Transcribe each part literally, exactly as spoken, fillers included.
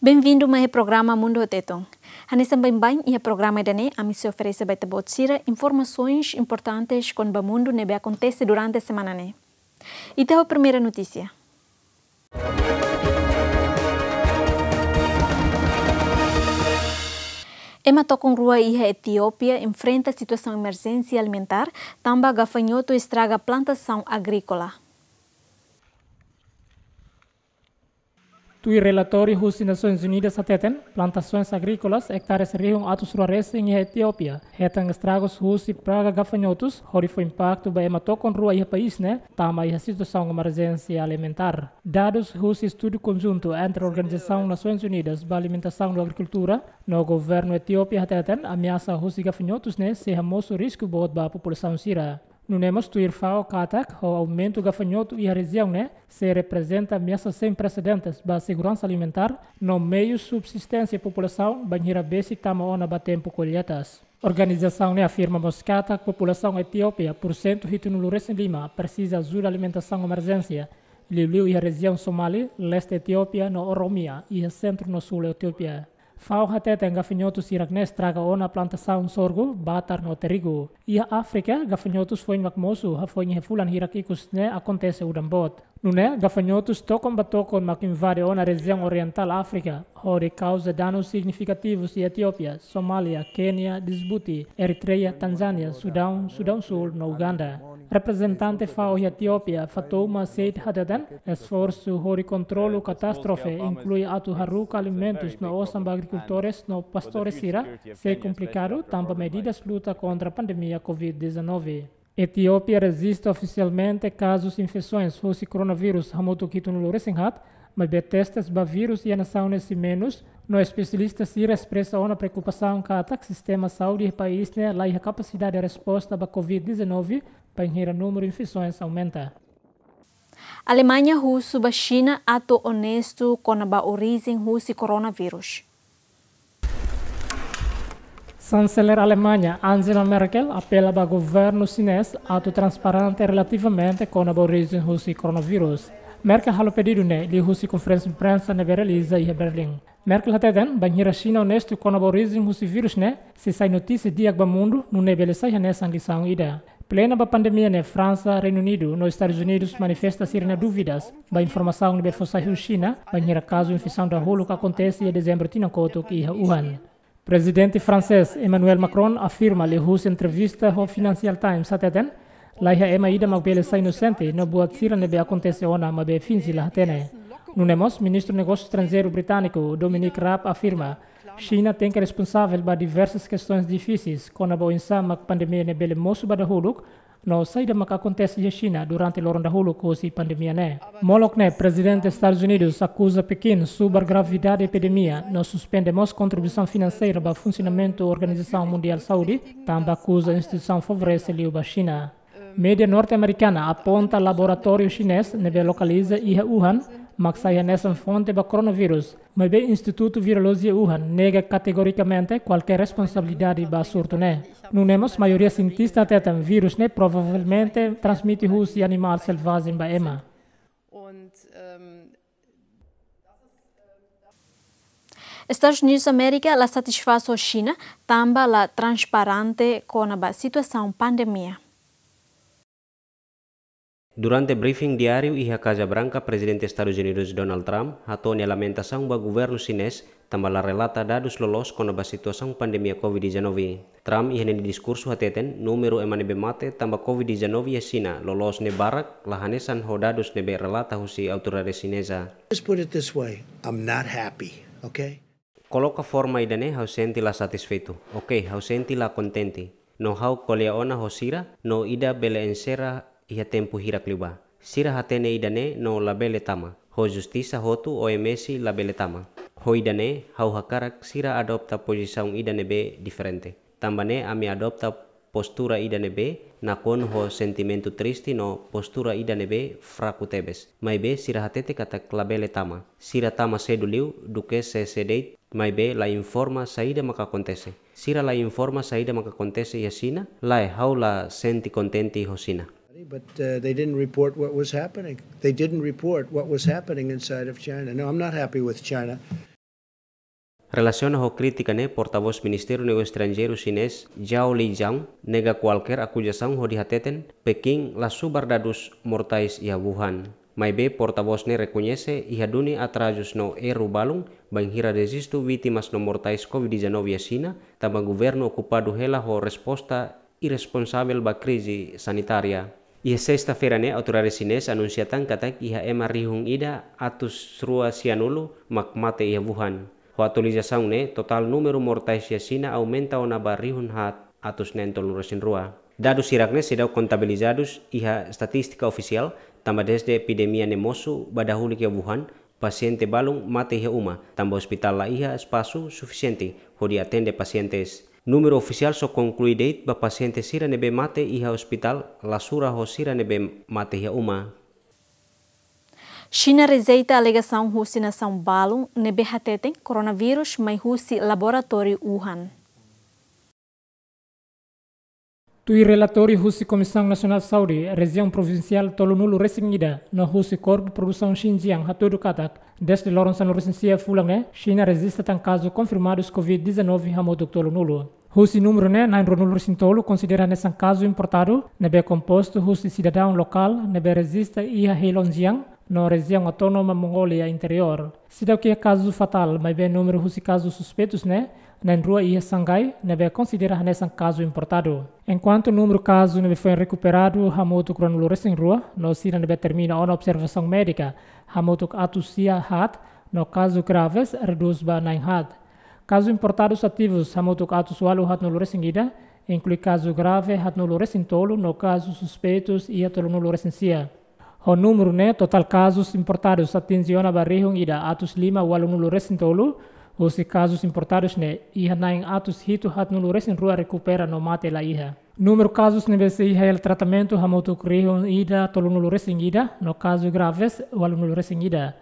Benvindu mai iha programa Mundu ho Tetun. Hanesan baibain iha programa ida-ne'e, ami sei oferese ba ita-boot sira informasoens importantes kona-ba mundu ne'ebé akontese durante semana ne'e. Ita ho primeira notísia. Ema tokon rua iha Etiópia enfrenta situasaun emerjénsia alimentár, tanba gafanhotu estraga plantasaun agríkola. Tuir relatóriu husi Nasoins Unidas hateten, plantasoens agríkolas ektares rihun atus rua resin iha Etiópia hetan estragus husi praga gafanhotus, hodi fó impaktu ba ema tokon rua iha país ne'e tama iha situasaun emerjénsia alimentár. Dadus husi estudu konjuntu entre Organizasaun Nasoins Unidas ba Alimentasaun no Agrikultura no governu Etiópia hateten, ameasa husi gafanhotus ne'e sei hamosu risku boot ba populasaun sira. Nune'e mós tuir FAO katak, ho aumentu gafanhotu iha rejiaun ne'e, sei reprezenta ameasa sein presedentes ba seguransa alimentár no meius subsisténsia populasaun bainhira besik tama ona ba tempu kolleitas. Organizasaun ne'e afirma mós katak populasaun Etiópia, pursentu hitunulu resin lima, presiza ajuda alimentasaun emerjénsia, liuliu iha rejiaun Somali, leste Etiópia, no Oromia, iha sentru no súl Etiópia. FAO hateten gafanhotu sira-ne'e estraga ona plantasaun sorgu, batar no trigu. Iha Áfrika, gafanhotus foin mak mosu, hafoin iha fulan hirak ikus ne'e akontese udan boot. Nune'e, gafanhotus tokon ba tokon mak invade ona rejiaun orientál Áfrika, hodi kauza danus signifikativus iha Etiópia, Somália, Kénia, Djibouti, Eritreia, Tanzánia, Sudaun, Sudaun Súl no Uganda. Reprezentante FAO iha Etiópia, Fatouma Said hateten, esforsu hodi kontrolu katástrofe, inklui atu haruka alimentus no osan ba agrikultores no pastores sira, sei komplikadu tanba medidas luta kontra pandemia covid dezanove. Etiópia rejista ofisialmente kazus infesoens husi koronavírus hamutuk hitunulu resin haat, maibé testes ba vírus iha nasaun ne'e sei menus, no espesialista sira espresa ona preokupasaun katak sistema saúde iha país ne'e la iha kapasidade resposta ba covid dezanove, bainhira númeru infesoens aumenta. Alemaña husu ba Xina atu onestu kona-ba orijen husi koronavírus. Xanseler Alemaña, Angela Merkel, apela ba governu xinés atu transparente relativamente kona-ba orijen husi koronavírus. Merkel halo pedidu ne'e liuhusi konferénsia imprensa ne'ebé realiza iha Berlin. Merkel hateten, bainhira Xina onestu kona-ba orijen husi vírus ne'e, sei sai notísia di'ak ba mundu, nune'e bele sai hanesan lisaun ida. Plena ba pandemia ne'e, Fransa, Reinu Unidu no Estadus Unidus manifesta sira-nia dúvidas ba informasaun ne'ebé fó sai husi Xina, bainhira kazu infesaun dahuluk akontese iha Dezembru tinan kotuk iha Wuhan. Prezidente fransés Emmanuel Macron afirma liuhusi entrevista ho Financial Times hateten, la iha ema ida mak bele sai inosente no buat sira ne'ebé akontese ona maibé finje la hatene. Nune'e mós, Ministru Negósiu Estranjeiru britániku, Dominic Raab, afirma, Xina tenke responsavel ba diversas kestoens difisis, kona-ba oinsá mak pandemia ne'e bele mosu ba dahuluk, no saida mak akontese iha Xina durante loron dahuluk husi pandemia ne'e. Molok ne'e, Prezidente Estadus Unidus akuza Pekin subar gravidade epidemia, no suspende mós kontribuisaun finanseira ba funsionamentu Organizasaun Mundiál Saúde, tanba akuza instituisaun favorese liu ba Xina. Média norte-amerikana aponta laboratóriu xinés ne'ebé lokaliza iha Wuhan, mak sai hanesan fonte ba koronavírus, maibé Institutu Virolojia Wuhan nega kategorikamente kualkér responsabilidade ba surtu ne'e. Nune'e mós, maioria sientista hateten vírus ne'e provavelmente transmite husi animál selvajen ba ema. Und, ähm, Estadus Unidus Amérika la satisfás ho Xina, tanba la transparente kona-ba situasaun pandemia. Durante briefing diáriu iha Kaza Branka, Prezidente Estadus Unidus Donald Trump hato'o nia lamentasaun ba governu xinés tanba la relata dadus loloos kona-ba situasaun pandemia covid dezanove. Trump iha nia diskursu hateten, númeru ema ne'ebé mate tanba covid dezanove iha Xina loloos ne'e barak, la hanesan ho dadus ne'ebé relata husi autoridade xineza. Just put it this way, I'm not happy, okay? Koloka forma ida-ne'e, ha'u sente la satisfeitu. Oke, ha'u sente la kontente. No ha'u ko'alia ona ho sira, no ida bele enserra iha tempu hirak liubá. Sira hatene ida-ne'e no labele tama. Ho justisa hotu, O M S labele tama. Ho ida-ne'e, ha'u hakarak sira adopta pozisaun ida ne'ebé diferente. Tanba ne'e ami adopta postura ida ne'ebé nakonu ho sentimentu triste no postura ida ne'ebé fraku tebes. Maibé sira hatete katak labele tama. Sira tama sedu liu duké sé-sé de'it, maibé la informa saida maka akontese. Sira la informa saida maka akontese iha Xina, lae, ha'u la sente kontente ho Xina. But, uh, they didn't report what was happening. They didn't report what was happening inside of China. No, I'm not happy with China. Relasiona ho krítika ne'e, portavós Ministériu Negósiu Estranjeiru xinés Zhao Lijian nega kualkér akuzasaun hodi hateten Pekin la subar dadus mortais iha Wuhan. Maibé portavós ne'e rekoñese iha duni atrazus no erru balun bainhira rejistu vítimas no mortais covid dezanove iha Xina, tanba governu okupadu hela ho resposta irresponsavel ba krize sanitária. Iha sesta-feira ne'e, autoridade xinés anunsia tan katak iha ema rihun ida atus rua sianulu mak mate iha Wuhan. Ho atualizasaun ne'e, totál númeru mortais iha Xina aumenta ona ba rihun haat atus neen tolunulu resin rua. Dadus hirak ne'e seidauk kontabilizadus iha estatístika ofisiál, tanba dezde epidemia ne'e mosu ba dahuluk iha Wuhan, pasiente balun mate iha uma, tanba ospitál la iha espasu sufisiente hodi atende pasientes. Númeru ofisiál só konklui de'it ba pasiente sira ne'ebé mate iha ospitál, la sura ho sira ne'ebé mate iha uma. Xina rejeita alegasaun husi nasaun balun ne'ebé hateten koronavírus mai husi laboratóriu Wuhan. Tuir relatóriu husi Komisaun Nasionál Saúde, Rejiaun Provinsiál tolunulu resin ida, no husi Korpu Produsaun Xinjiang hatudu katak, dezde loron sanulu resin sia fulan ne'e, Xina rejista tan kazu konfirmadus covid dezanove hamutuk tolunulu. Husi númeru ne'e, na'in ruanulu resin tolu konsidera hanesan kazu importadu, ne'ebé kompostu husi sidadaun lokál ne'ebé rejista iha Heilongjiang, no Rejiaun Autónoma Mongólia Interiór. Seidauk iha kazu fatál, maibé númeru husi kazu suspeitus ne'e, na'in rua iha Shanghai, ne'ebé konsidera hanesan kazu importadu. Enkuantu númeru kazu ne'ebé foin rekuperadu hamutuk ruanulu resin rua, no sira ne'ebé termina ona observasaun médika hamutuk atus sia haat, no kazu graves redús ba na'in haat. Kazu importadus ativus hamutuk atus ualu haatnulu resin ida, inklui kazu grave haatnulu resin tolu, no kazu suspeitus iha tolunulu resin sia. Ho númeru ne'e, totál kazus importadus atinje ona ba rihun ida atus lima ualunulu resin tolu, husi kazus importadus ne'e iha na'in atus hitu haatnulu resin rua rekupera no mate la iha. Númeru kazus ne'ebé sei iha hela tratamentu hamutuk rihun ida tolunulu resin ida, no kazu graves ualunulu resin ida.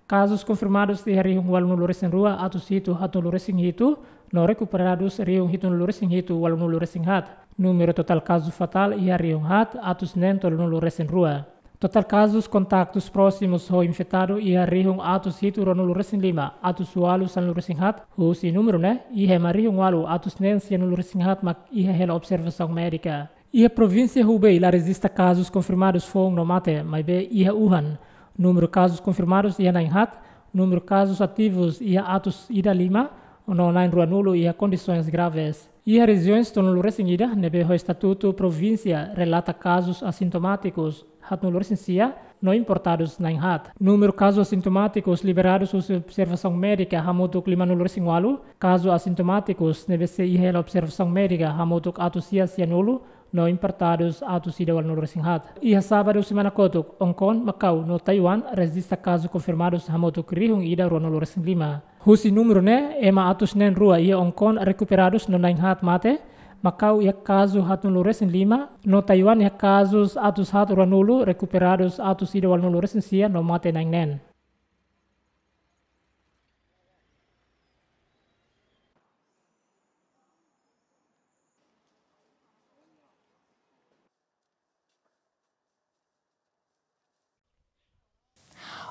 Kazus konfirmadus iha rihun ualunulu resin rua atus hitu haatnulu resin hitu, no rekuperadus rihun hitunulu resin hitu ualunulu resin haat. Númeru totál kazu fatál iha rihun haat atus neen tolunulu resin rua. Totál kazus kontaktus prósimus ho infetadu iha rihun atus hitu ruanulu resin lima atus ualu sanulu resin haat, husi númeru ne'e, iha ema rihun ualu atus neen sianulu resin haat mak iha hela observasaun médika. Iha provínsia Hubei la rejista kazus konfirmadus foun no mate, maibé iha Wuhan, númeru kazus konfirmadus iha na'in haat, númeru kazus ativus iha atus ida lima, no na'in ruanulu iha kondisoens graves. Iha rejiaun tolunulu resin ida ne'ebé ho estatutu provínsia relata kazus asintomátikus haatnulu resin sia, no importadus na'in haat. Númeru kazus asintomátikus liberadus husi observasaun médika hamutuk limanulu resin ualu, kazu asintomátikus ne'ebé sei iha hela observasaun médika hamutuk atus sia sianulu, no importadus atus ida ualunulu resin haat. Iha sábadu semana kotuk, Hong Kong, Makau, no Taiwan rejista kazu konfirmadus hamutuk rihun ida ruanulu resin lima. Husi númeru ne'e, ema atus neen rua iha Hong Kong rekuperadus no na'in haat mate, Makau iha kazu haatnulu resin lima, no Taiwan iha kazus atus haat ruanulu, rekuperadus atus ida ualunulu resin sia no mate na'in neen.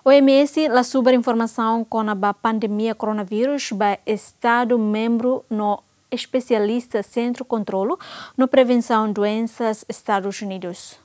O M S la subar informasaun kona-ba pandemia koronavírus ba estadu membru no espesialista Sentru Kontrolu no Prevensaun Doensas Estadus Unidus.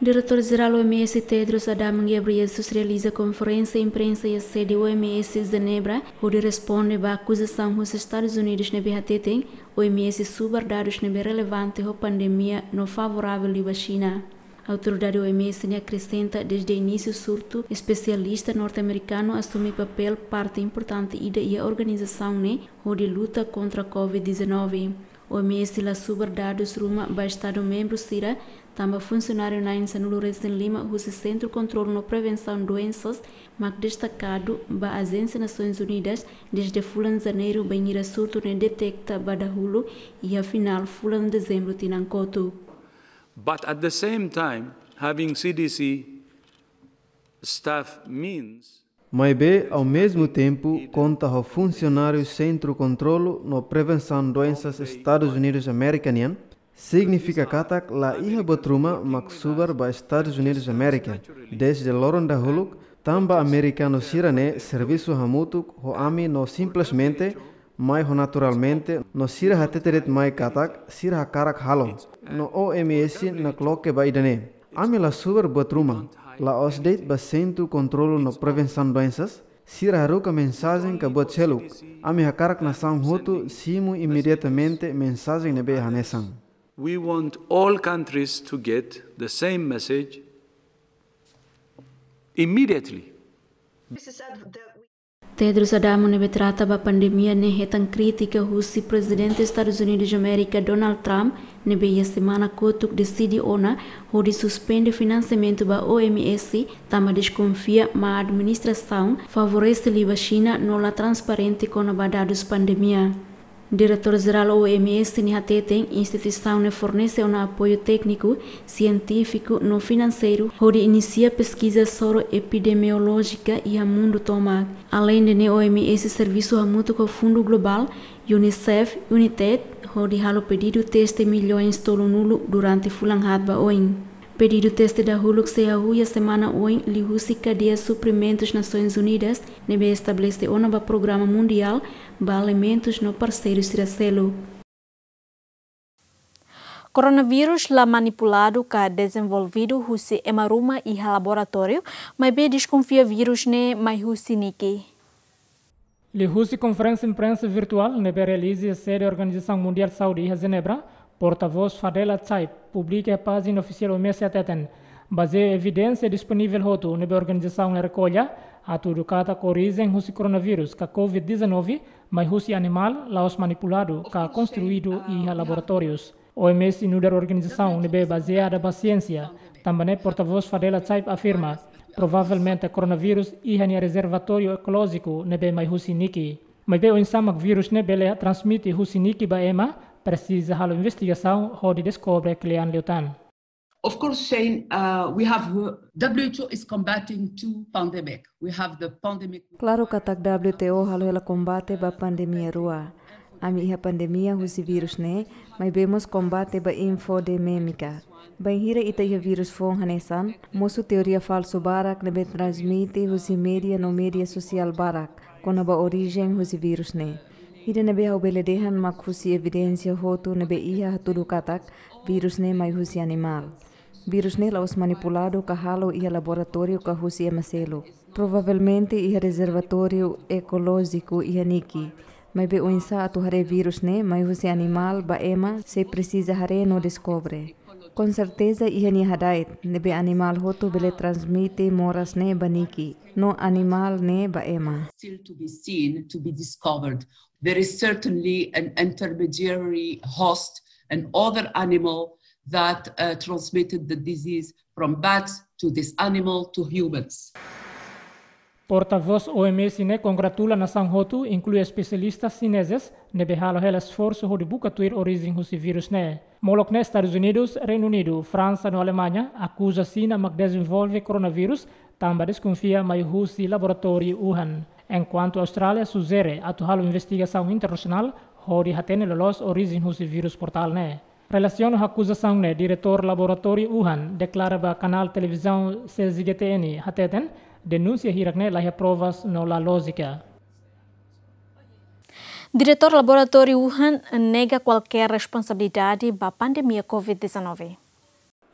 Diretór Jerál O M S Tedros Adhanom Ghebreyesus realiza konferénsia imprensa iha sede O M S Jenebra, hodi responde ba akuzasaun husi Estadus Unidus ne'ebé hateten O M S subar dadus ne'ebé relevante ho pandemia no favoravel liu ba Xina. Autoridade O M S ne'e akresenta, dezde inísiu surtu, espesialista norte-amerikanu asume papél parte importante ida iha organizasaun ne'e hodi luta kontra covid dezanove. O M S la subar dadus ruma ba estadu membru sira, tanba funsionáriu na'in sanulu resin lima husi Sentru Kontrolu no Prevensaun Doensas mak destakadu ba Ajénsia Nasoins Unidas dezde fulan Janeiru bainhira surtu ne'e deteta ba dahuluk iha finál fulan Dezembru tinan kotuk. But at the same time, having C D C staff means Maibé, ao mesmo tempo, konta ho funsionáriu Sentru Kontrolu no Prevensaun Doensas Estadus Unidus Amérika nian, signifika katak la iha buat ruma mak subar ba Estadus Unidus Amérika. Dezde loron dahuluk, Tanba amerikanu sira-ne'e servisu hamutuk ho ami no simplesmente mai ho naturalmente, no sira hatete de'it mai katak sira hakarak halo. No O M S nakloke ba ida-ne'e. Ami la subar buat ruma, la'ós de'it ba Sentru Kontrolu no Prevensaun Doensas, sira haruka mensajen ka buat seluk. Ami hakarak nasaun hotu simu imediatamente mensajen ne'ebé hanesan. We want all countries to get the same message immediately. Tedros Adhanom ne'ebé trata ba pandemia ne'e hetan krítika husi Prezidente Estadus Unidus Amérika Donald Trump ne'ebé iha semana kotuk deside ona hodi suspende finansiamentu ba O M S, tanba deskonfia mak administrasaun favorese liu ba Xina no la transparente kona-ba dadus pandemia. Diretór Jerál O M S ne'e hateten instituisaun ne'e fornese ona apoiu tékniku, sientífiku no finanseiru hodi inisia peskiza soro epidemiolójika iha mundu tomak. Aleinde ne'e, O M S servisu hamutuk ho Fundu Globál, UNICEF, UNITAID, hodi halo pedidu teste milhões tolunulu durante fulan haat ba oin. Pedidu teste dahuluk sei hahú iha semana oin liuhusi kadeia suprimentus Nasoins Unidas, ne'ebé estabelese ona ba programa mundiál ba alimentus no parseiru sira seluk. Koronavírus la manipuladu ka dezenvolvidu husi ema ruma iha laboratóriu, maibé deskonfia vírus ne'e mai husi niki. Liuhusi konferénsia imprensa virtuál ne'ebé realiza iha sede Organizasaun Mundiál Saúde iha Jenebra, portavós Fadela Chaib publika iha pájina ofisiál O M S hateten, bazeia evidénsia disponivel hotu ne'ebé organizasaun ne'e rekolla, hatudu katak orijen husi koronavírus ka covid dezanove mai husi animál, la'ós manipuladu ka konstruídu iha laboratórius. O M S nu'udar organizasaun ne'ebé bazeada ba siénsia, tanba ne'e portavós Fadela Chaib afirma, provavelmente koronavírus iha nia rezervatóriu ekolójiku ne'ebé mai husi niki. Maibé oinsá mak vírus ne'e bele transmite husi niki ba ema, presiza halo investigasaun hodi deskobre kle'an liután. Of course, Shane, uh, we have, uh, W H O is combating two pandemic. We have the pandemic. Klaru katak W T O halo hela kombate ba pandemia rua. Ami iha pandemia husi vírus ne'e, maibé mós kombate ba infodemia. Bainhira ita iha vírus foun hanesan, mosu teoria falsu barak ne'ebé transmite husi média no média sosiál barak kona-ba orijen husi vírus ne'e. Ida ne'ebé ha'u bele dehan mak husi evidénsia hotu ne'ebé iha hatudu katak vírus ne'e mai husi animál. Vírus ne'e la'ós manipuladu ka halo iha laboratóriu ka husi ema seluk. Provavelmente iha rezervatóriu ekolójiku iha niki. Maibé oinsá atu haree vírus ne'e mai husi animál ba ema, sei presiza haree no deskobre. Konserteza iha nia hada'et, ne'ebé animál hotu bele transmite moras ne'e ba niki, no animál ne'e ba ema. Still to be seen, to be discovered. There is certainly an intermediary host, an other animal that, uh, transmitted the disease from bats to this animal to humans. Portavós O M S ne'e kongratula nasaun hotu, inklui espesialista xinezes, ne'ebé halo hela esforsu hodi buka tuir orijen husi vírus ne'e. Molok ne'e Estadus Unidus, Reinu Unidu, Fransa no Alemaña akuza Xina mak dezenvolve koronavírus, tanba deskonfia mai husi laboratóriu Wuhan. Enkuantu Austrália sujere atu halo investigasaun internasionál hodi hatene loloos orijen husi vírus mortál ne'e. Relasiona ho akuzasaun ne'e, diretór laboratóriu Wuhan deklara ba kanál televizaun C G T N hateten, denúnsia hirak ne'e la iha provas no la lójika. Diretór laboratóriu Wuhan nega kualkér responsabilidade ba pandemia covid dezanove.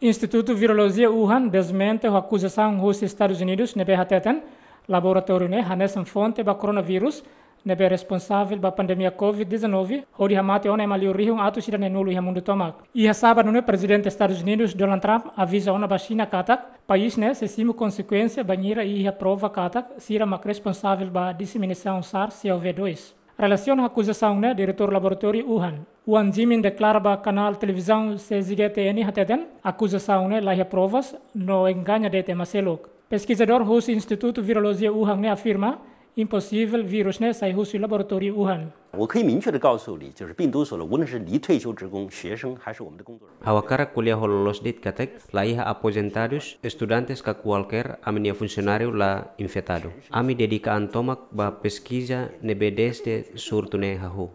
Institutu Virolojia Wuhan desmente ho akuzasaun husi Estadus Unidus ne'ebé hateten, laboratóriu ne'e hanesan fonte ba koronavírus ne'ebé responsavel ba pandemia covid dezanove, hodi hamate ona ema liu rihun atus ida neen-nulu iha mundu tomak. Iha sábadu ne'e, Prezidente Estadus Unidus Donald Trump aviza ona ba Xina katak país ne'e sei simu konsekuénsia bainhira iha prova katak sira mak responsavel ba diseminasaun SARS-CoV dois. Relasiona ho akuzasaun ne'e, diretór laboratóriu Wuhan, Wang Jimin, deklara ba kanál televizaun C G T N hateten, akuzasaun ne'e la iha provas no engaña de'it ema seluk. Peskizadór husi Institutu Virolojia Wuhan ne'e afirma, imposivel vírus ne'e sai husi laboratóriu Wuhan. 我可以明确地告诉你，就是病毒所呢，无论是离退休职工、学生，还是我们的工作人员。 Ha'u hakarak ko'alia ho loloos de'it katak, la iha aposentadus, estudantes ka kualkér ami-nia funsionáriu la infetadu. Ami dedika an tomak ba peskiza ne'ebé dezde surtu ne'e hahú.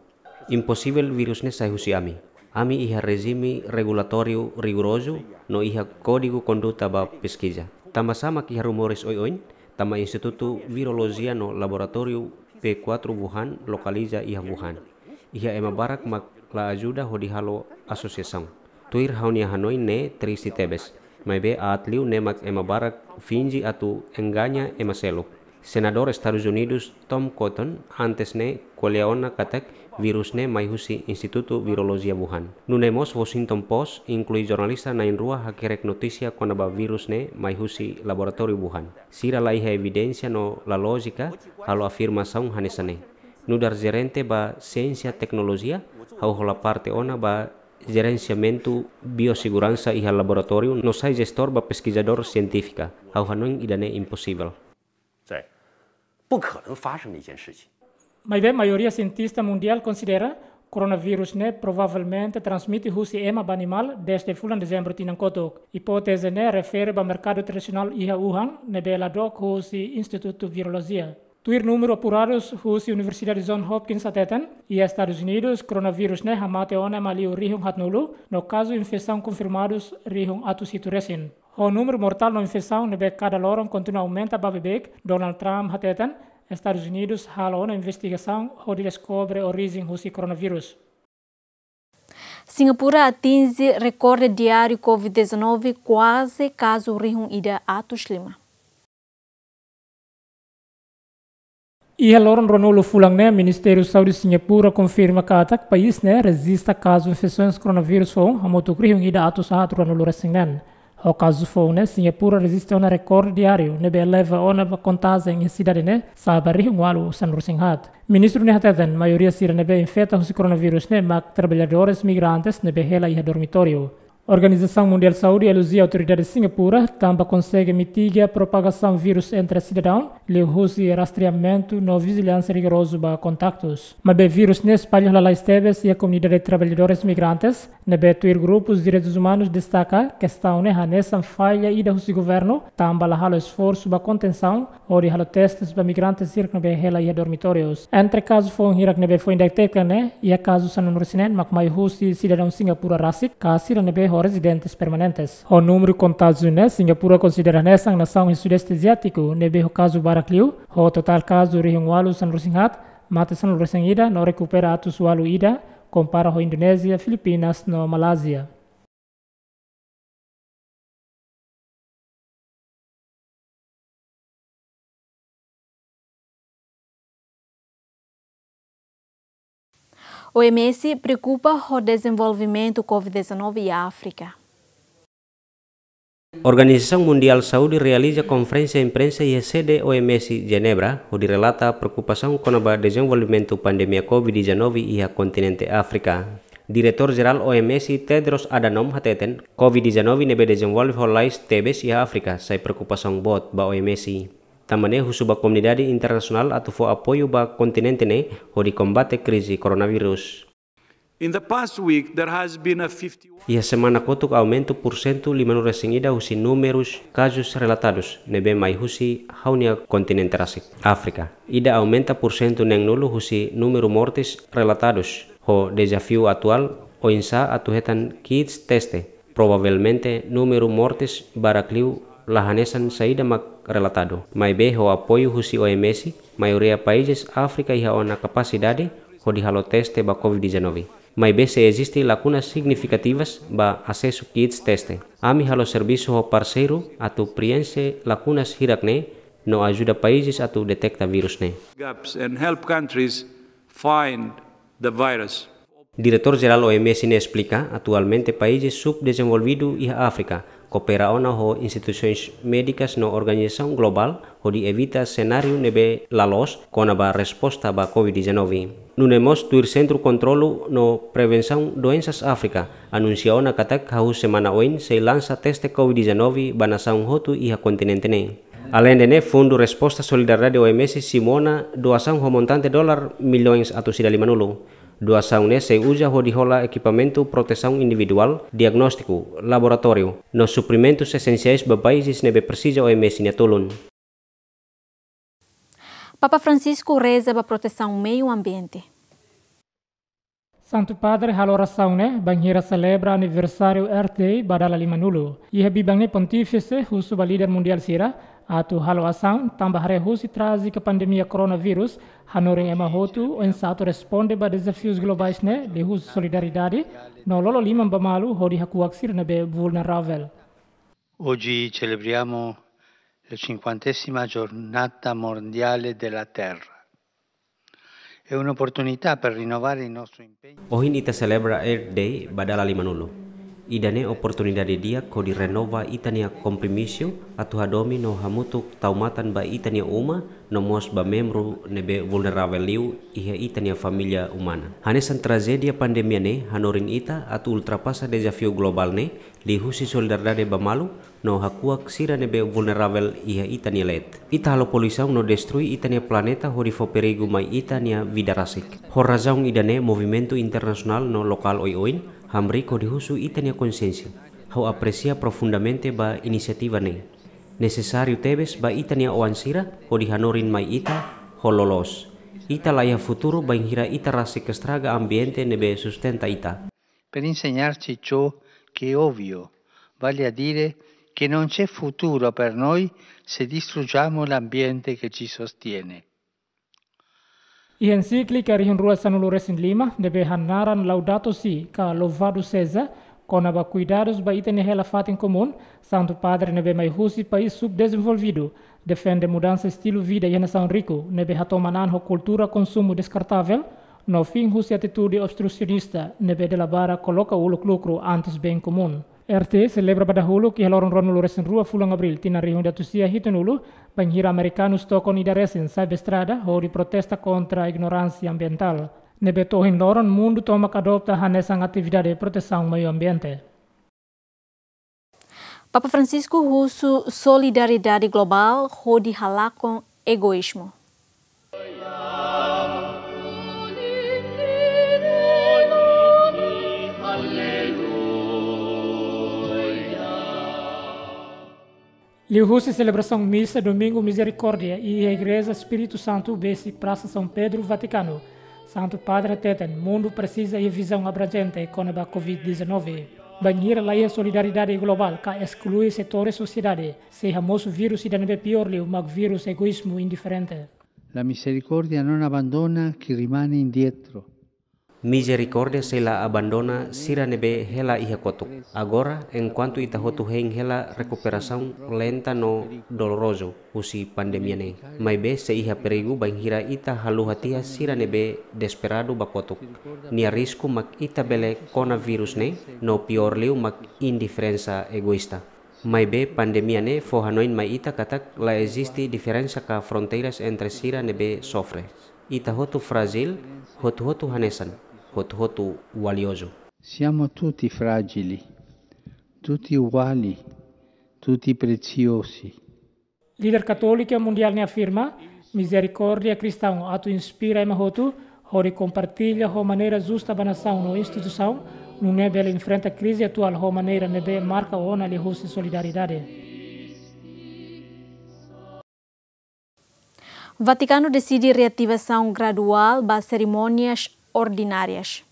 Imposivel vírus ne'e sai husi ami. Ami iha rejime regulatóriu rigorozu no iha kódigu konduta ba peskiza. Tanba sá mak iha rumores oioin, Tanba Institutu Virolojia no Laboratóriu P kuatru Wuhan lokaliza iha Wuhan, iha ema barak mak la ajuda hodi halo asosiasaun. Tuir ha'u-nia hanoin ne'e triste tebes. Maibé aat liu ne'e mak ema barak finje atu engaña ema seluk. Senadór Estadus Unidus Tom Cotton antes ne'e ko'alia ona katak vírus ne'e mai husi Institutu Virolojia Wuhan. Nune'e mós Washington Post inklui jornalista na'in-rua hakerek notísia kona-ba vírus ne'e mai husi laboratóriu Wuhan. Sira la iha evidénsia no la lójika halo afirmasaun hanesan ne'e. Nu'udar jerente ba siénsia teknolojia, ha'u hola parte ona ba jerensiamentu bioseguransa iha laboratóriu no sai jestór ba peskizadór sientífika. Ha'u hanoin ida-ne'e imposivel. 在不可能发生的一件事情。 Maibé maioria sientista mundiál konsidera koronavírus ne'e provavelmente transmite husi ema ba animál dezde fulan dezembru tinan kotuk. Ipóteze ne'e refere ba merkadu tradisionál iha Wuhan ne'ebé la dook husi Institutu Virolojia. Tuir númeru apuradu husi Universidade Johns Hopkins hateten, iha Estadus Unidus, koronavírus ne'e hamate ona ema liu rihun haatnulu, no kazu infesaun konfirmadu rihun atus hitu resin. Ho númeru mortál no infesaun ne'ebé kada loron kontinua aumenta ba beibeik, Donald Trump hateten, Estadus Unidus hala'o ona investigasaun hodi deskobre orijen husi koronavírus. Singapura atinje rekorde diáriu Covid dezanove, kuaze kazu rihun ida atus lima. Iha loron ruanulu fulan ne'e, Ministériu Saúde Singapura konfirma katak país ne'e rejista kazu infesaun koronavírus foun hamutuk rihun ida atus haat ruanulu resin neen. Ho kazu foun ne'e, Singapura rejista ona rekorde diáriu ne'ebé eleva ona ba kontajen iha sidade ne'e sa'e ba rihun ualu sanulu resin haat. Ministru ne'e hateten, maioria sira ne'ebé infeta husi koronavírus ne'e mak traballadores migrantes ne'ebé hela iha dormitóriu. Organizasaun Mundiál Saúde elogia autoridade Singapura tanba konsege mitiga propagasaun vírus entre sidadaun liuhusi rastreamentu no vijiliánsia rigorozu ba kontaktus. Maibé vírus ne'e espalla lalais tebes iha komunidade traballadores migrantes, ne'ebé tuir grupus direitus umanus destaka kestaun ne'e hanesan falla ida husi governu tanba la halo esforsu ba kontensaun hodi halo testes ba migrantes hirak ne'ebé hela iha dormitórius. Entre kazu foun hirak ne'ebé foin deteta ne'e, iha kazu sanulu resin neen mak mai husi sidadaun Singapura rasik, ka sira ne'ebé ho rezidentes permanentes. Ho númeru kontajen ne'e, Singapura konsidera hanesan nasaun iha Sudeste Aziátiku ne'ebé ho kazu barak liu, ho totál kazu rihun ualu sanulu resin haat, mate sanulu resin ida no rekupera atus ualu ida, kompara ho Indonézia, Filipinas no Malázia. OMS preokupa ho dezenvolvimentu Covid dezanove iha Áfrika. Organizasaun Mundiál Saúde realiza konferénsia imprensa iha sede OMS Jenebra, hodi relata preokupasaun kona-ba dezenvolvimentu pandemia Covid dezanove iha kontinente Áfrika. Diretór Jerál OMS Tedros Adhanom hateten, Covid dezanove ne'ebé dezenvolve ho lalais tebes iha Áfrika sai preokupasaun boot ba OMS. Tanba ne'e husu ba komunidade internasionál atu fó apoiu ba kontinente ne'e hodi kombate krize koronavírus. In the past week, there has been a fifty-one. Iha semana kotuk aumentu pursentu limanulu resin ida husi númerus kazus relatadus ne'ebé mai husi ha'u-nia kontinente rasik, Áfrika. Ida aumenta pursentu neenulu husi númeru mortes relatadus. Ho dezafiu atuál, oinsá atu hetan kits teste. Provavelmente númeru mortes barak liu la hanesan saida mak relatadu. Maibé ho apoiu husi OMS, maioria países Áfrika iha ona kapasidade hodi halo teste ba Covid dezanove. Maibé sei eziste lakunas signifikativas ba asesu kits teste. Ami halo servisu ho parseiru atu prienxe lakunas hirak-ne'e no ajuda países atu deteta vírus ne'e. Gaps and help countries find the virus. Diretór Jerál OMS ne'e esplika, atualmente países subdezenvolvidu iha Áfrika koopera ona ho instituisoens médikas no organizasaun globál hodi evita senáriu ne'ebé la loos kona-ba resposta ba Covid dezanove. Nune'e mós tuir Sentru Kontrolu no Prevensaun Doensas Áfrika anunsia ona katak hahú semana oin sei lansa teste Covid dezanove ba nasaun hotu iha kontinente ne'e. Aleinde ne'e, Fundu Resposta Solidariedade OMS simu ona doasaun ho montante dolar milhões atus ida limanulu. Doasaun ne'e sei uza hodi hola ekipamentu protesaun individuál, diagnóstiku, laboratóriu, no suprimentus esensiais ba países ne'ebé presiza OMS nia tulun. Papa Francisco reza ba protesaun meiu ambiente. Santu Padre halo orasaun ne'e bainhira selebra aniversáriu Earth Day ba dala limanulu. Iha biban ne'e Pontífise husu ba líder mundiál sira Atu halo asaun tanba haree husi trájika pandemia koronavírus, hanorin ema hotu oinsá atu responde ba dezafius globais ne'e liuhusi solidariedade no lolo liman ba malu hodi hakuak sira ne'ebé vulneravel. Oggi celebriamo la cinquantesima giornata mondiale della terra. È un'opportunità per rinnovare il nostro impegno. Ohin ita selebra Earth Day ba dala limanulu. Ida-ne'e oportunidade di'ak hodi renova ita-nia kompromisu atu hadomi no hamutuk tau matan ba ita-nia uma no mós ba membru ne'ebé vulneravel liu iha ita-nia família umana. Hanesan trajédia pandemia ne'e hanorin ita atu ultrapasa dezafiu globál ne'e liuhusi solidariedade ba malu no hakuak sira ne'ebé vulneravel iha ita-nia leet. Ita halo poluisaun no destrui ita-nia planeta hodi fó perigu mai ita-nia vida rasik. Ho razaun ida-ne'e movimentu internasionál no lokál oioin hamriik hodi husu ita-nia konsiénsia. Ha'u apresia profundamente ba inisiativa ne'e. Nesesáriu tebes ba ita-nia oan sira hodi hanorin mai ita ho loloos. Ita laiha futuru bainhira ita rasik estraga ambiente ne'ebé sustenta ita. Per insegnarci ciò che è ovvio, vale a dire che non c'è futuro per noi se distruggiamo l'ambiente che ci sostiene. Iha ensíklika rihun rua sanulu resin lima ne'ebé hanaran Laudato Si ka Louvado Seja, kona-ba kuidadus ba ita-nia hela fatin komún, Santu Padre ne'ebé mai husi país subdezenvolvidu defende mudansa estilu vida iha nasaun riku ne'ebé hatoman an ho kultura konsumu deskartavel, no fin husi atitude obstrusionista ne'ebé dala barak koloka uluk lukru antes bem komún. R T selebra ba dahuluk iha loron ruanulu resin rua fulan Abríl tinan rihun ida atus sia hitunulu, bainhira amerikanus tokon ida resin sai ba estrada hodi protesta kontra ignoránsia ambientál ne'ebé to'o ohin loron mundu tomak adopta hanesan atividade protesaun meiu ambiente. Papa Francisco husu solidariedade globál hodi halakon egoízmu. Liuhusi selebrasaun misa Domingu Mizerikórdia iha Igreja Espíritu Santu, besi Prasa São Pedro, Vatikanu, Santu Padre hateten mundu presiza iha vizaun abranjente kona-ba covid dezanove. Bainhira laiha solidariedade globál ka esklui setores sosiedade, sei hamosu vírus ida ne'ebé piór liu mak vírus egoízmu indiferente. La misericordia non abbandona chi rimane indietro. Mizerikórdia sei la abandona sira ne'ebé hela iha kotuk. Agora, enkuantu ita hotu hein hela rekuperasaun lenta no dolorozu husi pandemia ne'e, maibé sei iha perigu bainhira ita haluha tiha sira ne'ebé desesperadu ba kotuk. Nia risku mak ita bele kona vírus ne'e, no piór liu mak indiferensa egoísta. Maibé pandemia ne'e fó hanoin mai ita katak la eziste diferensa ka fronteiras entre sira ne'ebé sofre. Ita hotu frájil, hotu-hotu hanesan, hotu-hotu valiozu. Siamo tutti fragili, tutti uguali, tutti preziosi. Líder Katólika Mundiál ne'e afirma, mizerikórdia kristaun atu inspira ema hotu hodi kompartilla ho maneira justa ba nasaun no instituisaun, nune'e bele enfrenta krize atuál ho maneira ne'ebé marka ona liuhusi solidariedade. Vatikanu deside reativasaun graduál ba serimónias ordinárias.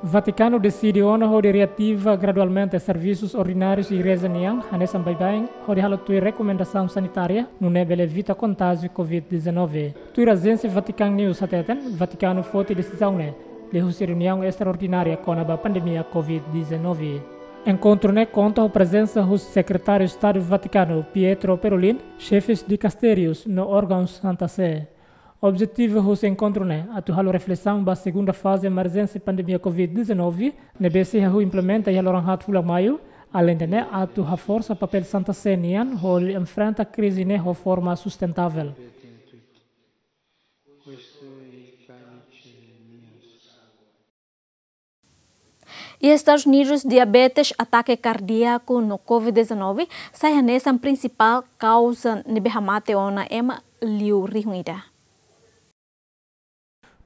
Vatikanu deside ona hodi reativa gradualmente servisus ordinárius igreja nian, hanesan baibain, hodi halo tuir rekomendasaun sanitária, nune'e bele evita kontájiu covid dezanove. Tuir ajénsia Vatican News hateten, Vatikanu foti desizaun ne'e liuhusi reuniaun estraordinária kona-ba pandemia covid dezanove. Enkontru ne'e konta ho prezensa husi Sekretáriu Estadu Vatikanu, Pietro Parolin, xefes dikastérius no órgaun Santa Sé. Objetivu husi enkontru ne'e atu halo reflesaun ba segunda faze emerjénsia pandemia covid dezanove, ne'ebé sei hahú implementa iha loron haat fulan Maiu, aleinde ne'e atu haforsa papél Santa Sé nian hodi enfrenta krize ne'e ho forma sustentável. Iha Estadus Unidus, diabetes, atake kardíaku no covid dezanove sai hanesan prinsipál kauza ne'ebé hamate ona ema liu rihun ida.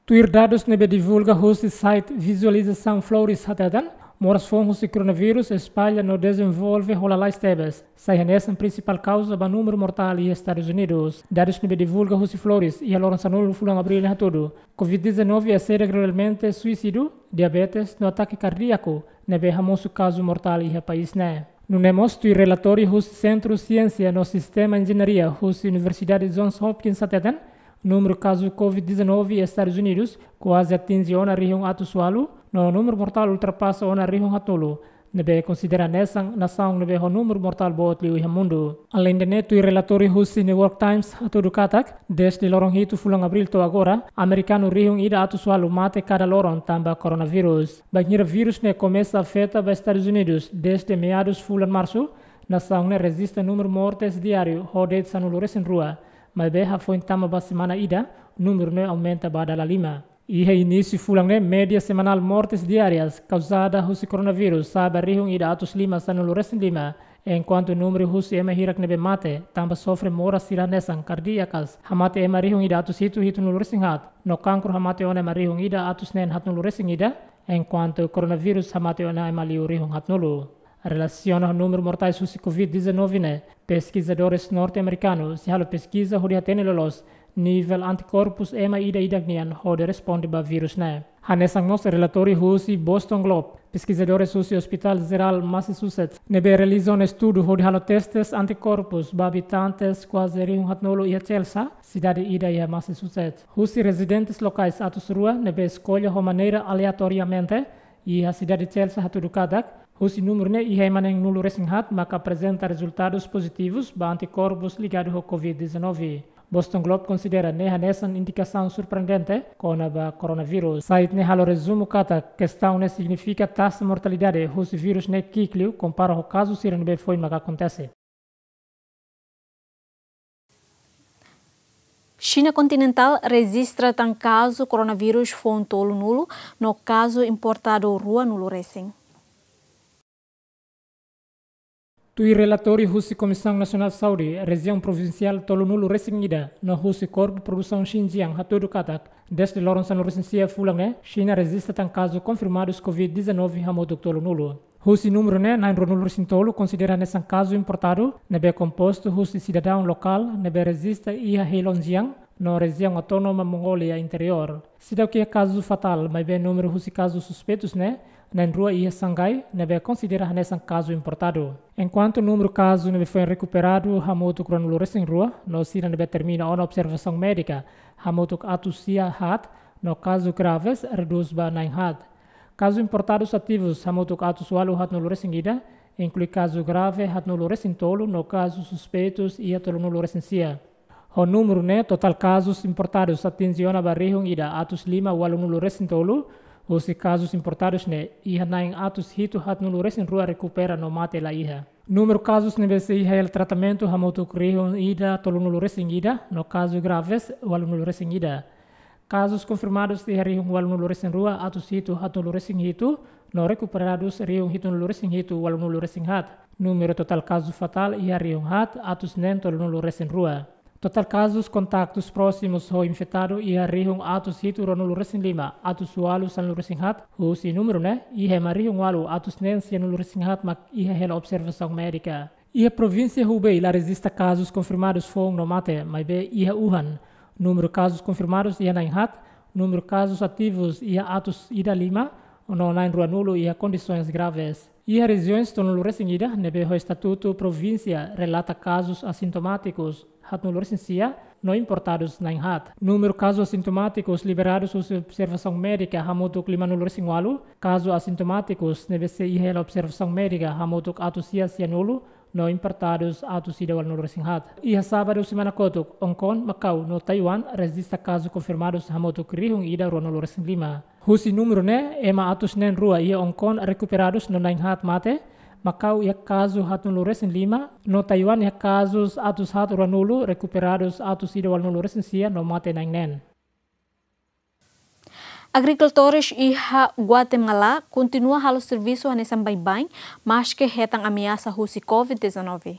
Tuir dadus ne'ebé divulga husi site Visualização Flores hateten, Moras foun husi koronavírus espalla no dezenvolve ho lalais tebes, sai hanesan prinsipál kauza ba númeru mortál iha Estadus Unidus. Dadus ne'ebé divulga husi Flores iha loron sanulu fulan Abríl ne'e hatudu, covid dezanove eseda gradualmente suisídiu, diabetes no atake kardíaku ne'ebé hamosu kazu mortál iha país ne'e. Nune'e mós tuir relatóriu husi Sentru Siénsia no Sistema Enjeñaria husi Universidade Johns Hopkins hateten, númeru kazu covid dezanove iha Estadus Unidus kuaze atinje ona rihun atus ualu, no númeru mortál ultrapasa ona rihun haatnulu, ne'ebé konsidera hanesan nasaun ne'ebé ho númeru mortál boot liu iha mundu. Aleinde ne'e, tuir relatóriu husi New York Times hatudu katak, dezde loron hitu fulan Abríl to'o agora, amerikanu rihun ida atus ualu mate kada loron tanba koronavírus. Bainhira vírus ne'e komesa afeta ba Estadus Unidus dezde meadus fulan Marsu, nasaun ne'e rejista númeru mortes diáriu ho de'it sanulu-resin-rua, maibé hafoin tama ba semana ida, númeru ne'e aumenta ba dala lima. Iha inísiu fulan ne'e, média semanál mortes diárias kauzada husi koronavírus sa'e ba rihun ida atus lima sanulu-resin-lima, enkuantu númeru husi ema hirak ne'ebé mate tanba sofre moras sira hanesan kardíakas hamate ema rihun ida atus hitu hitunulu-resin-haat, no kankru hamate ona ema rihun ida atus neen haatnulu-resin-ida, enkuantu koronavírus hamate ona ema liu rihun haatnulu. Relasiona ho númeru mortais husi covid dezanove ne'e, peskizadores norte-amerikanu sei halo peskiza hodi hatene loloos nivel antikorpus ema ida-idak nian hodi responde ba vírus ne'e. Hanesan mós relatóriu husi Boston Globe, peskizadores husi Hospital Jerál Massachusetts ne'ebé realiza ona estudu hodi halo testes antikorpus ba abitantes kuaze rihun haatnulu iha Chelsea, sidade ida iha Massachusetts. Husi rezidentes lokais atus rua ne'ebé eskolla ho maneira aleatoriamente iha sidade Chelsea hatudu katak, husi númeru ne'e iha ema neenulu-resin-haat maka aprezenta rezultadus pozitivus ba antikorpus ligadu ho covid dezanove. Boston Globe konsidera ne'e hanesan indikasaun surpreendente kona-ba koronavírus. Site ne'e halo rezumu katak, kestaun ne'e signifika taxa mortalidade husi vírus ne'e ki'ik liu kompara ho kazu sira ne'ebé foin maka akontese. Xina kontinentál rejista tan kazu koronavírus foun tolunulu, no kazu importadu ruanulu-resin. Tuir relatóriu husi Komisaun Nasionál Saúde, rejiaun provinsiál tolunulu-resin-ida, no husi Korpu Produsaun Xinjiang hatudu katak, dezde loron sanulu-resin-sia fulan ne'e, Xina rejista tan kazu konfirmadus covid dezanove hamutuk tolunulu. Husi númeru ne'e, na'in ruanulu-resin-tolu konsidera hanesan kazu importadu, ne'ebé kompostu husi sidadaun lokál ne'ebé rejista iha Heilongjiang, no rejiaun autónoma Mongólia Interiór. Seidauk iha kazu fatál, maibé númeru husi kazu suspeitus ne'e, na'in rua iha Shanghai, ne'ebé konsidera hanesan kazu importadu. Enkuantu númeru kazu ne'ebé foin rekuperadu hamutuk ruanulu-resin-rua, no sira ne'ebé termina ona observasaun médika hamutuk atus sia haat, no kazu graves redús ba na'in haat. Kazu importadus ativus hamutuk atus ualu haatnulu-resin-ida, inklui kazu grave haatnulu-resin-tolu no kazu suspeitus iha tolunulu-resin-sia. Ho númeru ne'e, totál kazus importadus atinje ona ba rihun ida atus lima ualunulu-resin-tolu, husi kazus importadus ne'e iha na'in atus hitu haatnulu-resin-rua rekupera no mate la iha. Númeru kazus ne'ebé sei iha hela tratamentu hamutuk rihun ida tolunulu-resin-ida, no kazu graves ualunulu-resin-ida. Kazus konfirmadus iha rihun ualunulu-resin-rua atus hitu haatnulu-resin-hitu, no rekuperadus rihun hitunulu-resin-hitu ualunulu-resin-haat. Númeru totál kazu fatál iha rihun haat atus neen tolunulu-resin-rua. Totál kazus kontaktus prósimus ho infetadu iha rihun atus hitu ruanulu-resin-lima atus ualu sanulu-resin-haat, husi númeru ne'e iha ema rihun ualu atus neen sianulu-resin-haat mak iha hela observasaun médika. Iha provínsia Hubei la rejista kazus konfirmadus foun no mate, maibé iha Wuhan, númeru kazus konfirmadus iha na'in haat, númeru kazus ativus iha atus ida lima, no na'in ruanulu iha kondisoens graves. Iha rejiaun tolunulu-resin-ida ne'ebé ho estatutu provínsia relata kazus asintomátikus haatnulu-resin-sia, no importadus na'in haat. Númeru kazus asintomátikus liberadus husi observasaun médika hamutuk limanulu-resin-ualu, kazus asintomátikus ne'ebé sei iha hela observasaun médika hamutuk atus sia sianulu, no importadus atus ida ualunulu-resin-haat. Iha sábadu semana kotuk, Hong Kong, Makau, no Taiwan rejista kazu konfirmadus hamutuk rihun ida ruanulu-resin-lima. Husi númeru ne'e, ema atus neen rua iha Hong Kong rekuperadus no na'in haat mate, Makau iha kazu haatnulu-resin-lima, no Taiwan iha kazus atus haat ruanulu, rekuperadus atus ida ualunulu-resin-sia no mate na'in neen. Agrikultores iha Guatemala kontinua halo servisu hanesan baibain, maske hetan ameasa husi covid dezanove.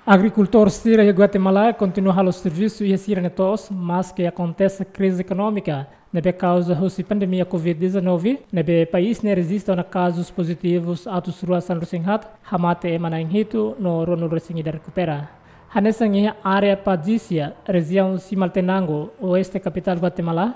Agrikultór sira iha Guatemala kontinua halo servisu iha sira-nia to'os, maske akontese krize ekonómika, Ne'ebé kauza husi pandemia covid dezanove, ne'ebé país ne'e rejista ona kazus pozitivus atus rua sanulu-resin-haat, hamate ema na'in hitu no ruanulu-resin-ida rekupera. Hanesan iha área Padisia, rejiaun Simaltenango, oeste kapitál Guatemala,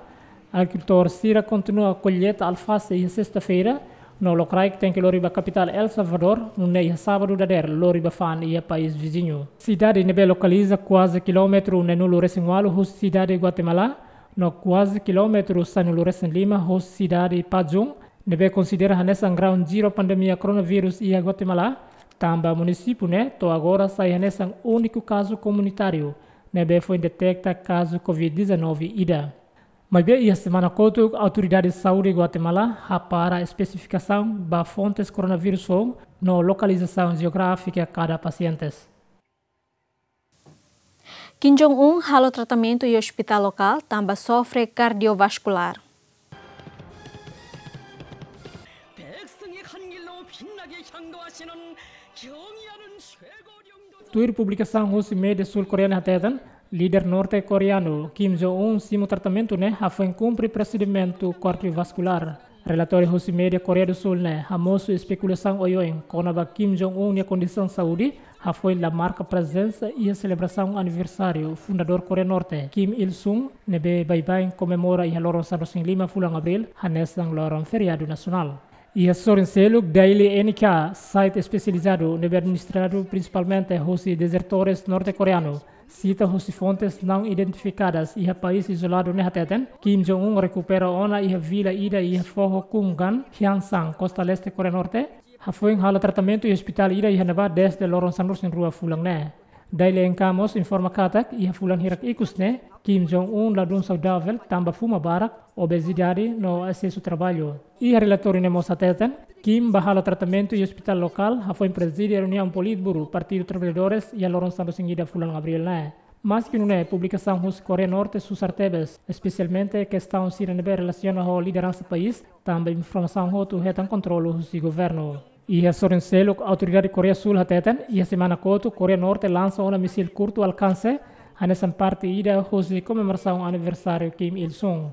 agrikultór sira kontinua kolleita alfase iha sesta-feira, no lokraik tenke lori ba kapitál El Salvador, nune'e iha sábadu dadeer lori ba fa'an iha país viziñu. Sidade ne'ebé lokaliza kuaze kilómetru neenulu-resin-ualu husi sidade Guatemala, no kuaze kilómetru sanulu-resin-lima husi sidade Pajun, ne'ebé konsidera hanesan ground zero pandemia koronavírus iha Guatemala, tanba munisípiu ne'e to'o agora sai hanesan úniku kazu komunitáriu ne'ebé foin deteta kazu covid dezanove ida. Maibé iha semana kotuk, autoridade saúde Guatemala hapara espesifikasaun ba fontes koronavírus foun no lokalizasaun jeográfika kada pasientes. Kim Jong-un halo tratamentu iha ospitál lokál tanba sofre kardiovaskulár. Tuir publikasaun husi média sul-koreana hateten, líder norte-koreanu Kim Jong-un simu tratamentu ne'e hafoin kumpre prosedimentu kardiovaskulár. Relatóriu husi média Koreia do Sul ne'e hamosu espekulasaun oioin kona-ba Kim Jong-un nia kondisaun saúde, hafoin la marka prezensa iha selebrasaun aniversáriu fundadór Koreia Norte, Kim Il-sung, ne'ebé baibain komemora iha loron sanulu-resin-lima fulan Abríl, hanesan loron feriadu nasionál. Iha sorin seluk, Daily N K, site espesializadu ne'ebé administradu prinsipalmente husi dezertores norte-koreanu, sita husi fontes não identificadas iha país izoladu ne'e hateten, Kim Jong-un rekupera ona iha vila ida iha foho Kumgang, Hyeongsan, kosta leste Koreia Norte, hafoin halo tratamentu iha ospitál ida iha ne'ebá dezde loron sanulu-resin-rua fulan ne'e. Daily N K mós informa katak, iha fulan hirak ikus ne'e, Kim Jong-un ladún saudavel tanba fuma barak, obesidade no esesu traballu. Iha relatóriu ne'e mós hateten, Kim bá halo tratamentu iha ospitál lokál, hafoin prezide reuniaun Politburo Partidu Traballadores iha loron sanulu-resin-ida fulan Abríl ne'e. Maski nune'e, publikasaun husi Koreia Norte susar tebes, espesialmente kestaun sira ne'ebé relasiona ho lideransa país, tanba informasaun hotu hetan kontrolu husi governu. Iha sorin seluk, autoridade Koreia Sul hateten, iha semana kotuk Koreia Norte lansa ona misil kurtu alkanse, hanesan parte ida husi komemorasaun aniversáriu Kim Il-sung.